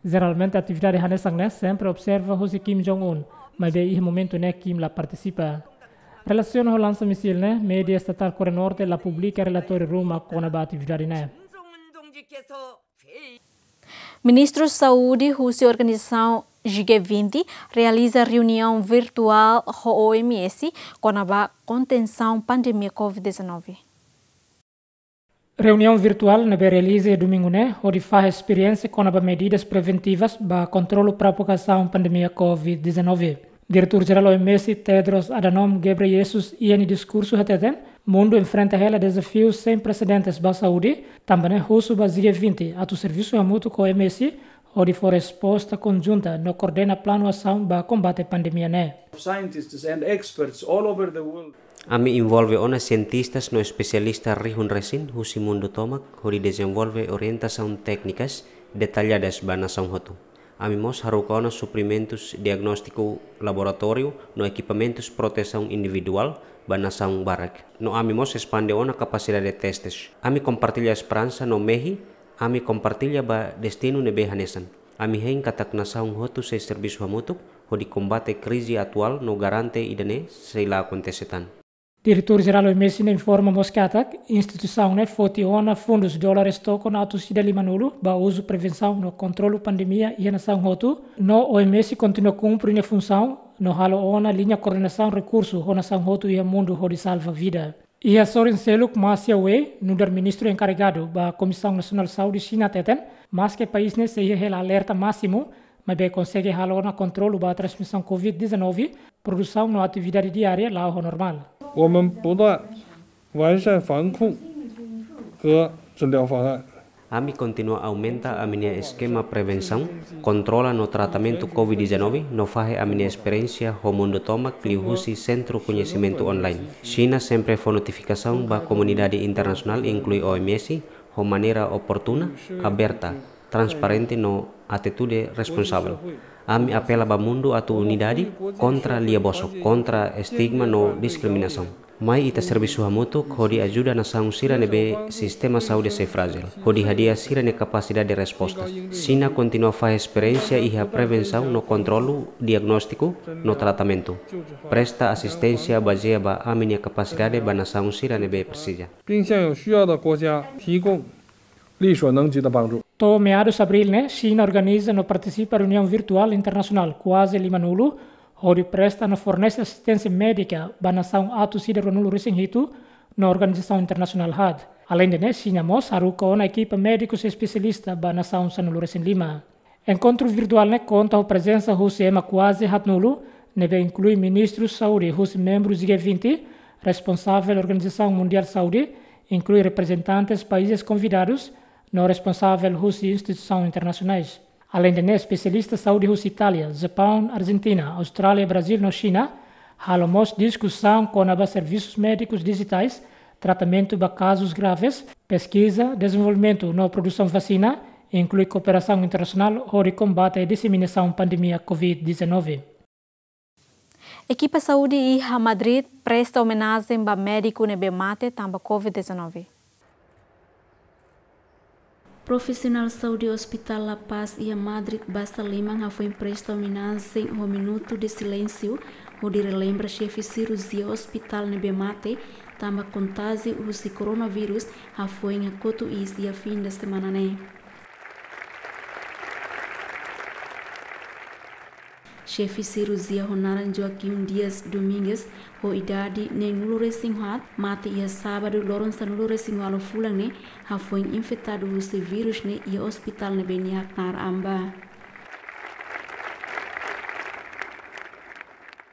Jeralmente atividade hanesan ne'e sempre observa husi Kim Jong-un, maibé iha momentu ne'e Kim la partisipa. Relasiona ho lansa misil ne'e, média estatál Koreia Norte la publika relatóriu ruma kona-ba atividade ne'e. Ministru Saúde husi organizasaun G vinte realiza reuniaun virtuál ho O M S kona-ba kontensaun pandemia covid dezanove. Reuniaun virtuál ne'ebé realiza iha domingu ne'e, hodi fahe esperiénsia kona-ba medidas preventivas ba kontrolu propagasaun pandemia covid dezanove. Diretór Jerál O M S, Tedros Adhanom Ghebreyesus, iha nia diskursu hateten, mundu enfrenta hela dezafiu sein presedentes ba saúde, tanba ne'e husu ba G vinte atu servisu hamutuk ho O M S, hodi fó resposta konjunta no koordena planu asaun ba kombate pandemia ne'e. Scientists and experts all over the world. Ami envolve ona sientistas no espesialista rihun resin husi mundu tomak hodi dezenvolve orientasaun téknikas detalladas ba nasaun hotu. Ami mós haruka ona suprimentus diagnóstiku laboratóriu no ekipamentus protesaun individuál ba nasaun barak. No ami mós espande ona kapasidade testes. Ami kompartilla esperansa no mehi ami kompartilla ba destinu ne'ebé hanesan. Ami hein katak nasaun hotu sei servisu hamutuk hodi kombate krize atuál no garante ida-ne'e sei la akontese tan. Diretór Jerál O M S ne'e informa mós katak, instituisaun ne'e foti ona fundus dólares tokon atus ida limanulu ba uzu prevensaun no kontrolu pandemia iha nasaun hotu, no O M S kontinua kumpre nia funsaun, no halo ona liña koordenasaun rekursu ho nasaun hotu iha mundu hodi salva vida. Iha sorin seluk, Marcia Wei, nu'udar ministru enkarregadu ba Komisaun Nasionál Saúde Xina hateten, maski país ne'e sei iha hela alerta másimu, maibé konsege halo ona kontrolu ba transmisaun covid dezanove, produsaun no atividade diária la'o ho normál. 我们不断完善防控和治疗方案。 Ami kontinua aumenta ami-nia eskema prevensaun, kontrola no tratamentu covid dezanove, no fahe ami-nia esperiénsia ho mundu tomak liuhusi sentru koñesimentu online. Xina sempre fó notifikasaun ba komunidade internasionál, inklui O M S, ho maneira oportuna, aberta, transparente no atitude responsavel. Ami apela ba mundu atu unidade kontra lia-bosok, kontra estigma no diskriminasaun. Mai ita servisu hamutuk hodi ajuda nasaun sira ne'ebé sistema saúde sei frájil, hodi hadi'a sira-nia kapasidade resposta. Xina kontinua fahe esperiénsia iha prevensaun no kontrolu, diagnóstiku no tratamentu. Presta asisténsia bazeia ba ami-nia kapasidade ba nasaun sira ne'ebé presiza. 并向有需要的国家提供力所能及的帮助。 To'o meadus Abríl ne'e, Xina organiza no partisipa reuniaun virtuál internasionál kuaze limanulu, hodi presta no fornese asisténsia médika ba nasaun atus ida ruanulu-resin-hitu no organizasaun internasionál haat. Aleinde ne'e, Xina mós haruka ona ekipa médikus espesialista ba nasaun sanulu-resin-lima. Enkontru virtuál ne'e konta ho prezensa husi ema kuaze haatnulu, ne'ebé inklui ministru saúde husi membrus G vinte, responsavel Organizasaun Mundiál Saúde, inklui reprezentantes países konvidadus, no responsavel husi instituisaun internasionais. Aleinde ne'e, espesialista saúde husi Itália, Japaun, Arjentina, Austrália, Brazíl no Xina halo mós diskusaun kona-ba servisus médikus dijitais, tratamentu ba kazus graves, peskiza, dezenvolvimentu no produsaun vasina, inklui kooperasaun internasionál hodi kombate diseminasaun pandemia covid dezanove. Ekipa saúde iha Madrid presta omenajen ba médiku ne'ebé mate tanba covid dezanove. Profisionál saúde Hospitál La Paz iha Madrid basa liman hafoin presta omenajen ho minutu de silénsiu, hodi relembra xefe sirurjia ospitál ne'ebé mate tanba kontajiu husi koronavírus hafoin hakotu iis iha fin de semana ne'e. Xefe sirurjia ho naran Joaquim Dias Domingues, ho idade neenulu-resin-haat, mate iha sábadu loron sanulu-resin-ualu fulan ne'e, hafoin infetadu husi vírus ne'e iha ospitál ne'ebé nia haknaar an ba.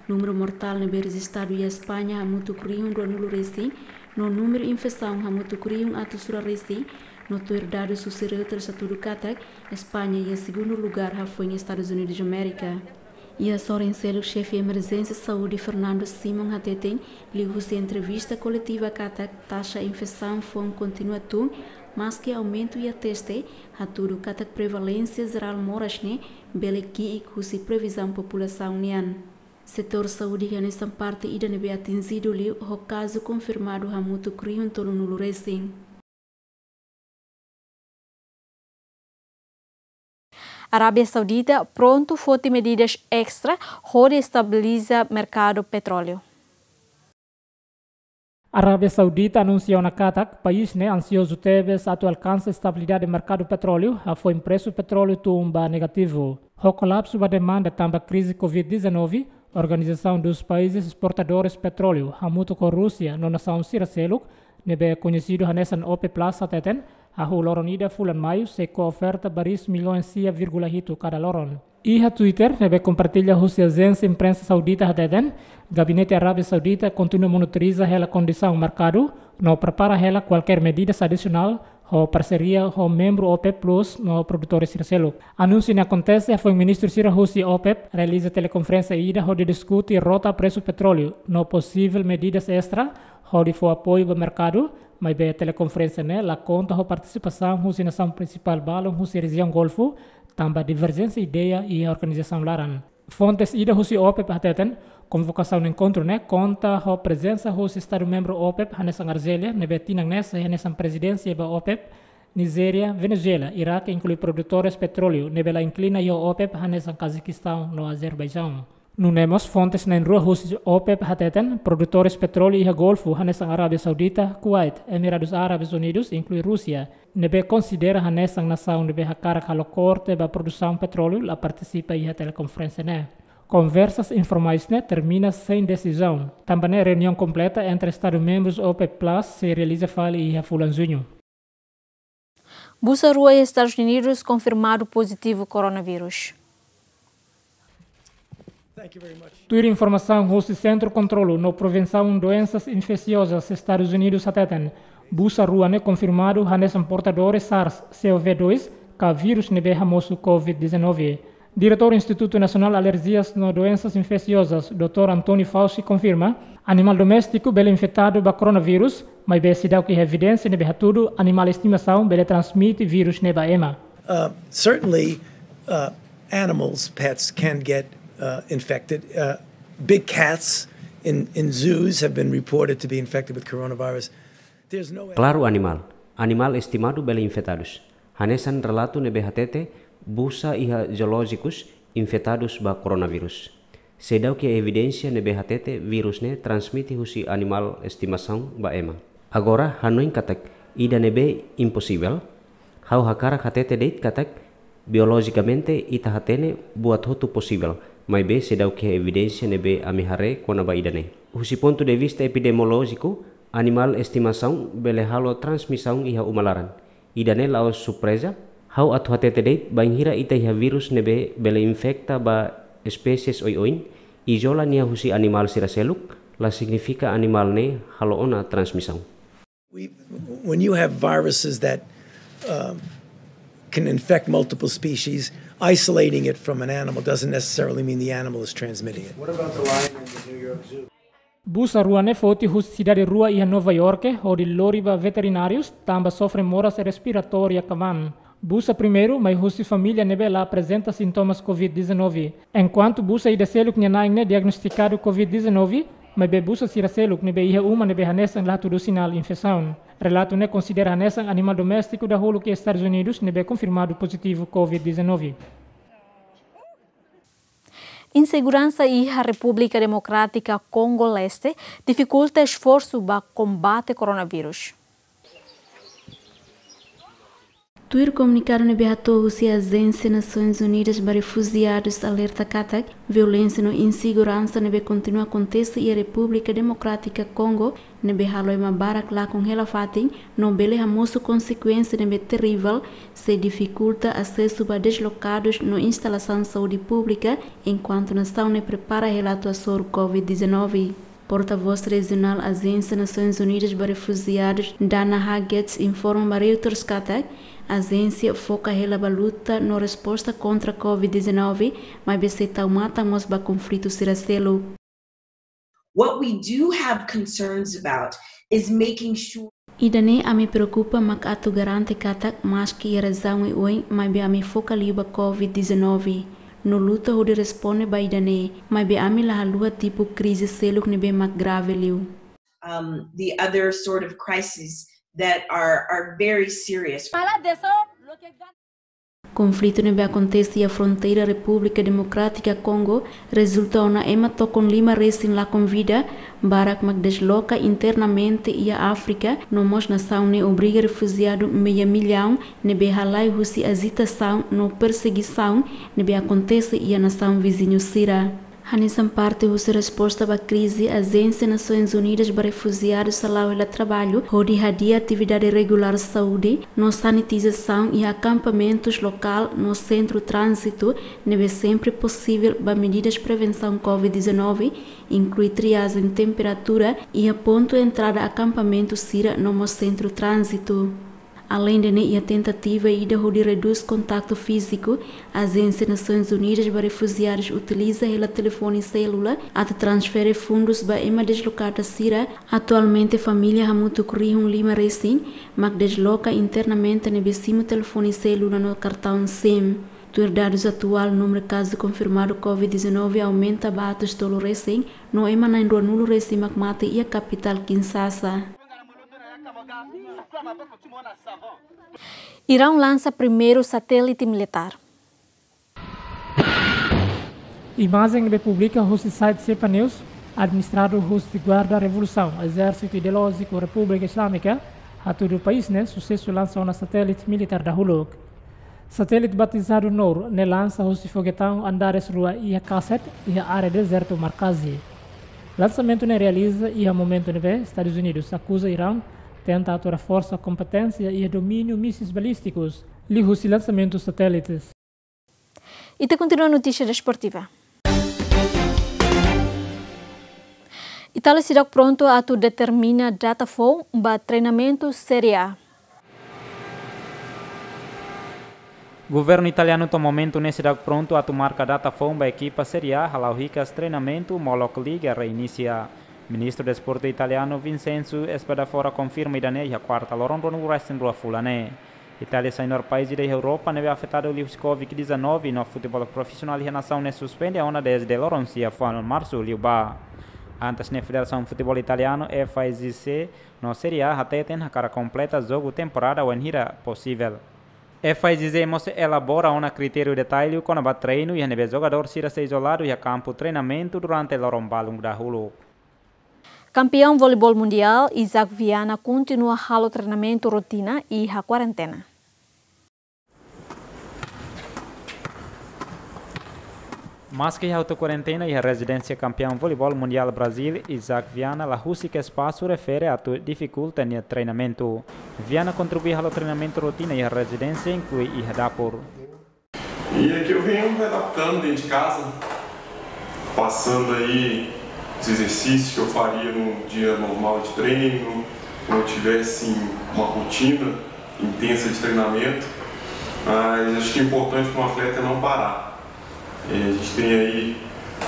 Númeru mortál ne'ebé rejistadu iha España hamutuk rihun ruanulu-resin, no númeru infesaun hamutuk rihun atus rua-resin, no tuir dadus husi Reuters hatudu katak, España iha segundu lugár hafoin Estadus Unidus Amérika. Iha sorin seluk, xefe emerjénsia saúde Fernando Simon hateten, liuhusi entrevista koletiva katak taxa infesaun foun kontinua tun, maski aumentu iha teste, hatudu katak prevalénsia jerál moras ne'e bele ki'ik husi previzaun populasaun nian. Setór saúde hanesan parte ida ne'ebé atinjidu liu ho kazu konfirmadu hamutuk rihun tolunulu-resin. Arábia Saudita prontu foti medidas estra hodi estabiliza merkadu petróleu. Arábia Saudita anunsia ona katak país ne'e ansiozu tebes atu alkansa estabilidade merkadu petróleu, hafoin presu petróleu tun ba negativu. Ho kolapsu ba demanda tanba krize covid dezanove, Organização dos Países Exportadores Petróleu, hamutuk ho Rúsia no nasaun sira seluk, ne'ebé koñesidu hanesan OPEC Plus hateten, hahú loron ida fulan Maiu sei ko'a oferta baris milhões sia vírgula hitu kada loron. Iha Twitter, ne'ebé kompartilla husi ajénsia imprensa saudita hateten, Gabinete Arábia Saudita kontinua monitoriza hela kondisaun merkadu, no prepara hela kualkér medidas adisionál, ho parseria ho membru OPEC Plus no produtores sira seluk. Anúnsiu ne'e akontese hafoin ministru sira husi OPEC realiza telekonferénsia ida hodi diskute rota presu petróleu no posivel medidas estra hodi fó apoiu ba merkadu, maibé telekonferénsia ne'e la konta ho partisipasaun husi nasaun prinsipál balun husi rejiaun Golfu, tanba diverjénsia ideia iha organizasaun laran. Fontes ida husi OPEC hateten, konvokasaun enkontru ne'e konta ho prezensa husi Estadu membru OPEC hanesan Arzélia, ne'ebé tinan ne'e sai hanesan prezidénsia ba OPEC, Nijéria, Venezuela, Iraque, inklui produtores petróleu ne'ebé la inklina iha OPEC hanesan Kazakstaun no Azerbaijaun. Nune'e mós fontes na'in-rua husi OPEC hateten, produtores petróleu iha Golfu hanesan Arábia Saudita, Kuwait, Emiradus Árabes Unidus, inklui Rúsia, ne'ebé konsidera hanesan nasaun ne'ebé hakarak halo korte ba produsaun petróleu la partisipa iha telekonferénsia ne'e. Konversas informais ne'e termina sein desizaun. Tanba ne'e reuniaun kompleta entre Estadu membrus OPEC Plus sei realiza fali iha fulan Juñu. Busa rua iha Estadus Unidus konfirmadu pozitivu koronavírus. Tuir informasaun husi Sentru Kontrolu no Prevensaun Doensas Infeksiozas Estadus Unidus hateten, busa rua ne'e konfirmadu hanesan portadores SARS-CoV dois, ka vírus ne'ebé hamosu covid dezanove. Diretór Institutu Nasionál Alerjias no Doensas Infeksiozas, doutór António Fauci, konfirma, animál doméstiku bele infetadu ba koronavírus, maibé seidauk iha evidénsia ne'ebé hatudu animál estimasaun bele transmite vírus ne'e ba ema. Uh, certainly, uh, animals, pets, can get, uh, infected. Uh, big cats in, in zoos have been reported to be infected with coronavirus. There's no Klaru animál. Animál estimadu bele infetadus. Hanesan relatu ne'ebé hatete, busa iha zoolójikus infetadus ba koronavírus. Seidauk iha evidénsia ne'ebé hatete vírus ne'e transmite husi animál estimasaun ba ema. Agora, hanoin katak ida-ne'e imposivel, ha'u hakarak hatete de'it katak biolojikamente ita hatene buat hotu posivel, maibé seidauk iha evidénsia ne'ebé ami haree kona-ba ida-ne'e. Husi pontu de vista epidemiolójiku, animál estimasaun bele halo transmisaun iha uma laran. Ida-ne'e la'ós surpreza, ha'u atu hatete de'it bainhira ita iha vírus ne'ebé bele infeta ba espésies oioin, izola nia husi animál sira seluk, la signifika animál ne'e halo ona transmisaun. We, when you have viruses that, um, can infect multiple species, isolating it from an animal doesn't necessarily mean the animal is transmitting it. What about the lion in the New York Zoo? Busa rua ne'e foti husi sidade rua iha Nova Iorke, hodi lori ba veterinárius, tanba sofre moras respiratória kavan. Busa primeiru mai husi família ne'ebé la aprezenta sintomas covid dezanove. Enkuantu busa ida seluk nia na'in ne'e diagnostikadu covid dezanove, maibé busa sira seluk ne'ebé iha uma ne'ebé hanesan la hatudu sinál infesaun. Relatu ne'e konsidera hanesan animál doméstiku dahuluk iha Estadus Unidus ne'ebé konfirmadu pozitivu covid dezanove. Inseguransa iha Repúblika Demokrátika Kongo Leste difikulta esforsu ba kombate koronavírus. Tuir komunikadu ne'ebé hato'o husi Ajénsia Nasoins Unidas ba Refujiadus alerta katak violénsia no inseguransa ne'ebé kontinua akontese iha Repúblika Demokrátika Kongo, ne'ebé halo ema barak lakon hela fatin, no bele hamosu konsekuénsia ne'ebé terivel, sei difikulta asesu ba deslokadus no instalasaun saúde públika, enkuantu nasaun ne'e prepara hela atu hasoru covid dezanove. Portavós rejionál Ajénsia Nasoins Unidas ba Refujiadus, Dana Hagetz, informa ba Reuters katak ajénsia foka hela ba luta no resposta kontra covid dezanove, maibé sei tau matan mós ba konflitu sira seluk. What we do have concerns about is making sure Ida-ne'e ami preokupa mak atu garante katak maski iha rejiaun oioin, maibé ami foka liu ba covid dezanove. No luta hodi responde ba ida-ne'e, maibé ami la haluha tipu krize seluk ne'ebé mak grave liu. Um, the other sort of crises that are, are very serious. Konflitu ne'ebé akontese iha fronteira Repúblika Demokrátika Kongo rezulta ona ema tokon lima resin lakon vida, barak mak desloka internamente iha Áfrika, no mós nasaun ne'e obriga refujiadu meia millaun ne'ebé halai husi ajitasaun no persegisaun ne'ebé akontese iha nasaun viziñu sira. Hanesan parte husi resposta ba krize, Ajénsia Nasoins Unidas ba Refujiadus hala'o hela traballu hodi hadi'a atividade regulár saúde no sanitizasaun iha akampamentus lokál no sentru tránzitu ne'ebé sempre posivel ba medidas prevensaun covid dezanove, inklui triajen temperatura iha pontu entrada akampamentu sira no mós sentru tránzitu. Aleinde ne'e, iha tentativa ida hodi redús kontaktu fíziku, Ajénsia Nasoins Unidas ba Refujiadus utiliza hela telefone selula atu transfere fundus ba ema deslokada sira. Atualmente, família hamutuk rihun lima resin mak desloka internamente ne'ebé simu telefone selula no kartaun sim. Tuir dadus atuál, númeru kazu konfirmadu covid dezanove aumenta ba atus tolu resin, no ema na'in ruanulu resin mak mate iha kapitál Kinshasa. Iraun lansa primeiru satélite militár. Imajen ne'ebé publika husi site Cepa News, administradu husi Guarda Revolusaun, Ezérsitu Ideolójiku Repúblika Islámika, hatudu país ne'e susesu lansa ona satélite militár dahuluk. Satélite batizadu Nour ne'e lansa husi foguetaun Andares rua iha Kaset, iha área dezertu Markazi. Lansamentu ne'e realiza iha momentu ne'ebé Estadus Unidus akuza Iraun tenta atu reforsa kompeténsia iha domíniu míseis balístikus, liuhusi lansamentu satélites. Ita kontinua notísia desportiva. Itália seidauk prontu atu determina data foun ba treinamentu Série A. Governu italianu to'o momentu ne'e seidauk prontu atu marka data foun ba ekipa Série A hala'o hikas treinamentu molok liga reinisia. Ministru Desportu italianu Vincenzo Spadafora konfirma ida-ne'e iha kuarta loron ruanulu resin rua fulan ne'e. Itália sai nu'udar país ida iha Europa ne'ebé afetadu liuhusi covid dezanove no futeból profisionál iha nasaun ne'e suspende ona dezde loron sia fuan Marsu liubá. Antes ne'e Federasaun Futeból Italianu, F I G C, no Série A hateten hakarak kompleta jogu temporada wainhira posivel. F I G C mós elabora ona kritériu detallu kona-ba treinu iha ne'ebé jogadór sira sei izoladu iha kampu treinamentu durante loron balun dahuluk. Kampeaun voleibol mundiál, Isaac Viana, kontinua halo treinamentu rotina iha kuarentena. Maski iha auto kuarentena iha rezidénsia kampeaun voleibol mundiál Brazíl, Isaac Viana, la husik espasu refere atu difikulta nia treinamentu. Viana kontribui halo treinamentu rotina iha rezidénsia, inklui iha dapur. E é que eu venho me adaptando dentro de casa, passando aí os exercícios que eu faria num dia normal de treino, quando eu tivesse uma rotina intensa de treinamento. Mas acho que o importante para um atleta é não parar. E a gente tem aí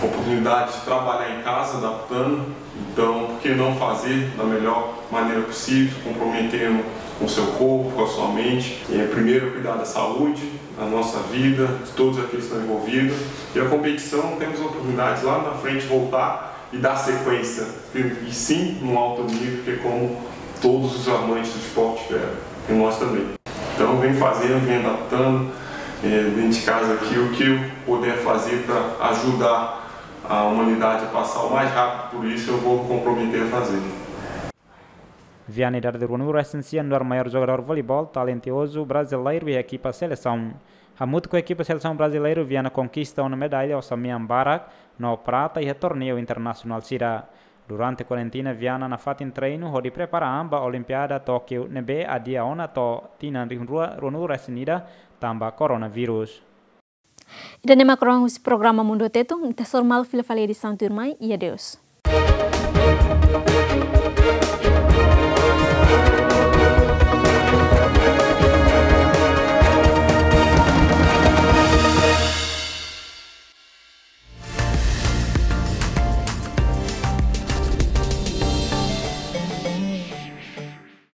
a oportunidade de trabalhar em casa, adaptando. Então, por que não fazer da melhor maneira possível, comprometendo com o seu corpo, com a sua mente? E é primeiro cuidar da saúde, da nossa vida, de todos aqueles que estão envolvidos. E a competição, temos a oportunidade lá na frente voltar e dar sequência. E sim, num alto nível, que é como todos os amantes do esporte esperam. E nós também. Então, vem fazendo, vem adaptando, eh, dentro de casa aqui, o que eu puder fazer para ajudar a humanidade a passar o mais rápido por isso, eu vou comprometer a fazer. Viana, idade de ruanulu resin sia, nu'udar maiór jogadór voleibol talentozu brasileiru iha ekipa selesaun. Hamutuk ho ekipa selesaun brasileiru, Viana konkista ona medalla osan-mean barak no prata iha torneiu internasionál sira. Durante kuarentena, Viana nafatin treinu hodi prepara an ba Olimpiada Tókiu ne'ebé adia ona to'o tinan rihun rua ruanulu resin ida tanba koronavírus. Ida-ne'e mak rohan husi programa Mundu Tetun, ita sei hasoru malu fila fali edisaun tuirmai, i adeus.